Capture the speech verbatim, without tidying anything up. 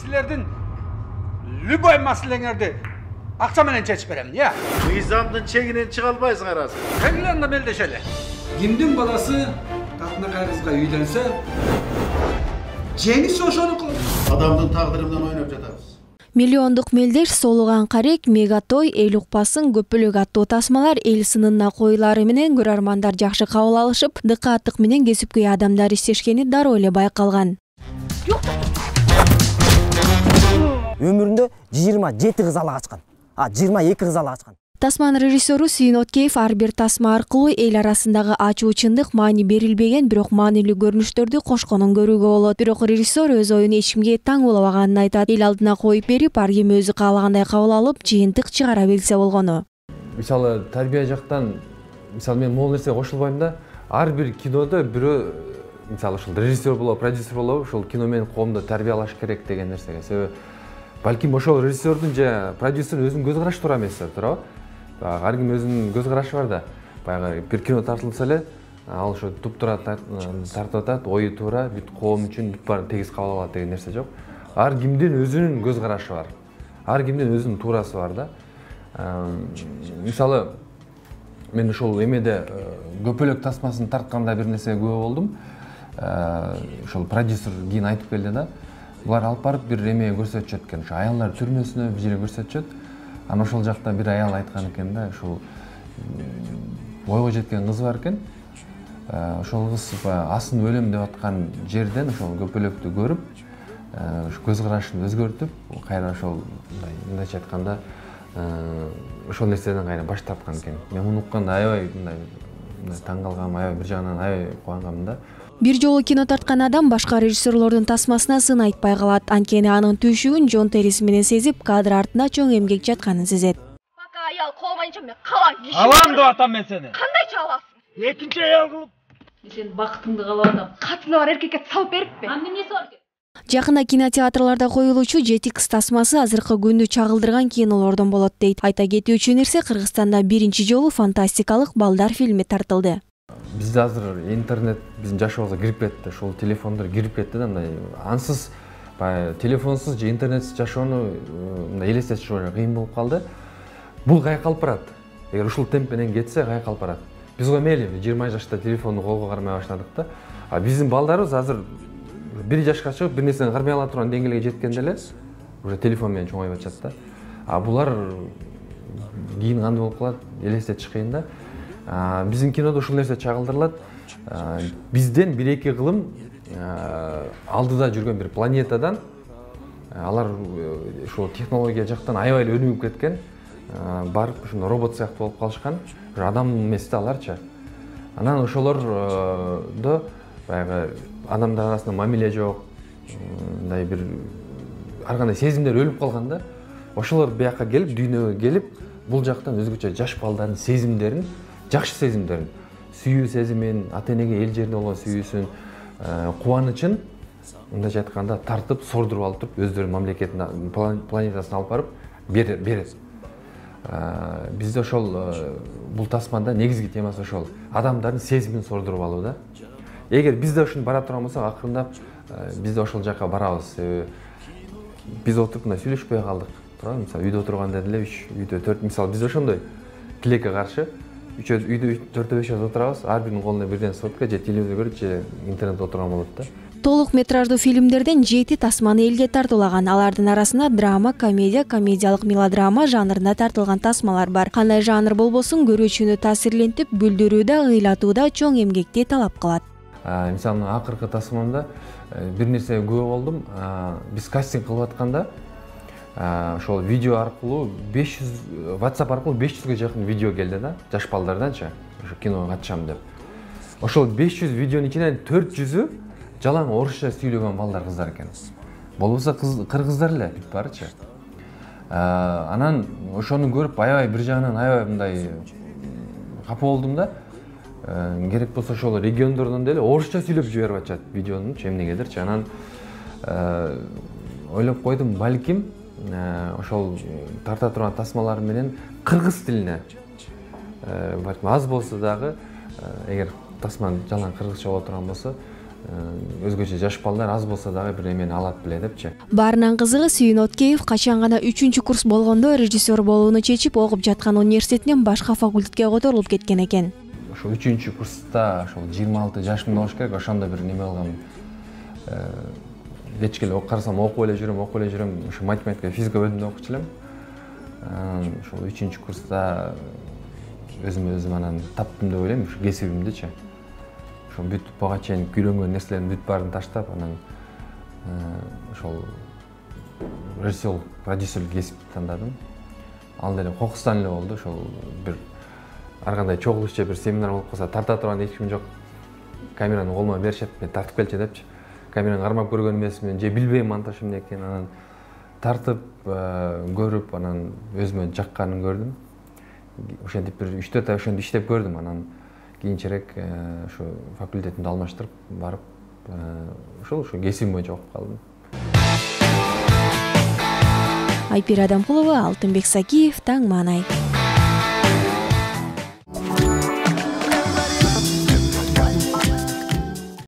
силердин любой маселеңерди акча менен чечип берем, я. Мыйзамдын чегинен чыга албайсыңар азыр. Келгиле анда мелдешели. Кимдин баласы татынакай кызга үйлөнсө, жеңиси ошонуку. Адамдын тагдыры менен ойноп жатабыз. Миллиондук мелдеш соолуган карек, мегатой, эл укпасын көпөлөк аттуу тасмалар эл сынына коюлары менен көрөрмандар жакшы кабыл алышып, дыкааттык менен кесипкөй адамдар иштешкени дароо эле байкалган. Өмүрүндө жыйырма жети кыз ала качкан. А жыйырма эки кыз ала качкан. Тасманын режиссеру Сүйүн Откеев ар бир тасма аркылуу эл арасындагы ачуу чындык, маани берилбеген, бирок маанилүү көрүнүштөрдү кошконун көрүүгө болот. Бирок режиссер өз оюн эч кимге таң болбаганын айтат. Эл алдына коюп берип, ар ким өзү каалагандай кабыл алып, жыйынтык чыгара билсе болгону. Мисалы, тарбия жактан, мисалы мен могул нерсе кошулбайм да. Ар бир кинодо бирөө, мисалы, ушул режиссер болобу, продюсер болобу, ушул кино менен коомду тарбиялаш керек деген нерсеге. Себеби балким ошол режиссердин же продюсердин өзүнүн көз карашы туура эмес, туурабы? Ар ким өзүнүн көз карашы бар да. Баягы бир кино тартылса эле, ал ошо туп-туура тартып атат, ою туура, бүт коом үчүн бүт баарын тегиз кабыл алат деген нерсе жок. Ар кимдин өзүнүн көз карашы бар. Ар кимдин өзүнүн туурасы бар да. Мисалы, мен ошол эмеде көпөлөк тасмасын тартканда бир нерсеге күбө болдум. Ошол продюсер кийин айтып келди да. Булар алып барып бир эме көрсөтүшөт экен. Ошо аялдар түрмөсүнө бир жерге көрсөтүшөт. Анан ошол жакта бир аял айткан экен да, ушул бойго жеткен кыз бар экен. Ошол кыз асын өлөм деп аткан жерден ошол көпөлөктү көрүп, көз карашын өзгөртүп, кайра ошол мындайча айтканда, ошол нерседен кайра баш тарткан экен. Мен муну укканда аябай мындай таң калгам, аябай бир жагынан аябай кубангам да. Бир жолу кино тарткан адам башка режиссерлордун тасмасына сын айтпай калат. Анткени анын түйшүгүн Джон Террис менен сезип, кадр артында чоң эмгек жатканын сезет. Пока аял колбайынча мен калам киши. Алам деп атам мен сени. Кандайча аласың? Экинчи аял кылып. Сен бакытыңды каалап атам. Катыны бар эркекке салып бериппи? Анын эмнеси бар экен? Жакында кинотеатрларда коюлуучу жети кыз тасмасы азыркы күндү чагылдырган кинолордон болот дейт. Айта кетүүчү нерсе, Кыргызстанда биринчи жолу фантастикалык балдар фильми тартылды. Бизде азыр интернет биздин жашообузга кирип кетти, ушул телефондор кирип кетти да, мындай ансыз, баягы телефонсуз же интернетсиз жашоону мындай элестетиш кыйын болуп калды. Бул кайкалып барат. Эгер ушул темп менен кетсе, кайкалып барат. Биз го мейли жыйырма жашта телефонду колго кармай баштадык да. А биздин балдарыбыз азыр бир жашка чыгып, бир нерсени кармай ала турган деңгээлге жеткенде эле уже телефон менен чоңоюп атышат да. А булар кийин кандай болуп калат, элестетиш кыйын да. Биздин кинодо ушул нерсе чагылдырылат. Бизден бир эки кылым алдыда жүргөн бир планетадан алар ушул технология жактан аябай эле өнүгүп кеткен, барып ушундай робот сыяктуу болуп калышкан. Адам эмес да аларчы. Анан ошолордо баягы адамдар арасында мамиле жок, мындай бир ар кандай сезимдер өлүп калган да. Ошолор бияка келип, дүйнөгө келип, бул жактан өзгөчө жаш балдардын сезимдерин, жакшы сезимдерин, сүйүү сезимин, ата-энеге, эл жерине болгон сүйүүсүн, кубанычын мындайча айтканда тартып, сордуруп алып туруп, өздөрүнүн мамлекетине, планетасына алып барып берет. Бизде ошол бул тасмада негизги темасы ошол. Адамдардын сезимин сордуруп алуу да. Эгер бизде ушуну бара турган болсок, акырындап бизде ошол жакка барабыз. Биз отуруп мына сүйлөшпөй калдык. Туурабы? Мисалы, үйдө отурганда деле үч, үйдө төрт, мисалы бизде ошондой тилекке каршы үчөө үйдө төртөө бешөө отурабыз, ар биринин колунда бирден сотка же телевизор көрүп же интернетте отурган болот да. Толук метраждуу фильмдерден жети тасманы элге тартуулаган. Алардын арасында драма, комедия, комедиялык мелодрама жанрында тартылган тасмалар бар. Кандай жанр болбосун, көрүүчүнү таасирлентип, бүлдүрүү да, ыйлатуу да чоң эмгекти талап кылат. Мисалы, акыркы тасмамда бир нерсеге күбө болдум. Биз кастинг кылып атканда ошол видео аркылуу беш жүз, WhatsApp аркылуу беш жүзгө жакын видео келди да, жаш балдарданчы, ошо киного катышам деп. Ошол беш жүз видеонун ичинен төрт жүзү жалаң орусча сүйлөгөн балдар, кыздар экен. Болбосо кыргыздар эле бүт барычы. Анан ошону көрүп аябай бир жагынан аябай мындай капа болдум да. Керек болсо ошол региондордон деле орусча сүйлөп жиберип атышат видеонучу эмнегедирчи. Анан ойлоп койдум, балким ошол тарта турган тасмалар менен кыргыз тилине аз болсо дагы, эгер тасман жалаң кыргызча боло турган болсо, өзгөчө жаш балдар аз болсо дагы бир эмени алат беле депчи. Баарынан кызыгы Сүйүн Откеев качан гана үчүнчү курс болгондо режиссер болууну чечип, окуп жаткан университетинен башка факультетке которулуп кеткен экен. Ошо үчүнчү курста ошол жыйырма алты жашымда болуш керек, ошондо бир неме алгам. Кечке эле карасам окуп эле жүрөм, окуп эле жүрөм. Ошо математика, физика бөлүмүндө окучу элем. Ошол үчүнчү курста өзүмө өзүм анан таптым деп ойлойм, ушу кесибимдичи. Ошо бүт буга чейин үйрөнгөн нерселердин бүт баарын таштап, анан ошол режиссер, продюсерлик кесипти тандадым. Ал деле кокустан эле болду. Ошол бир ар кандай чогулуш же бир семинар болуп калса, тарта турган эч ким жок. Камераны колума беришет, мен тартып келчи депчи. Камераны кармап көргөн эмесмин, же билбейм монтаж эмне экенин, анан тартып көрүп, анан өзүмө жакканын көрдүм. Ошентип бир үч төрт ай ошентип иштеп көрдүм, анан кийинчерээк ошо факультетимди алмаштырып барып, ошол ошо кесибим боюнча окуп калдым. Айпир Адамкулова, Алтынбек Сакиев, Таң Маанай.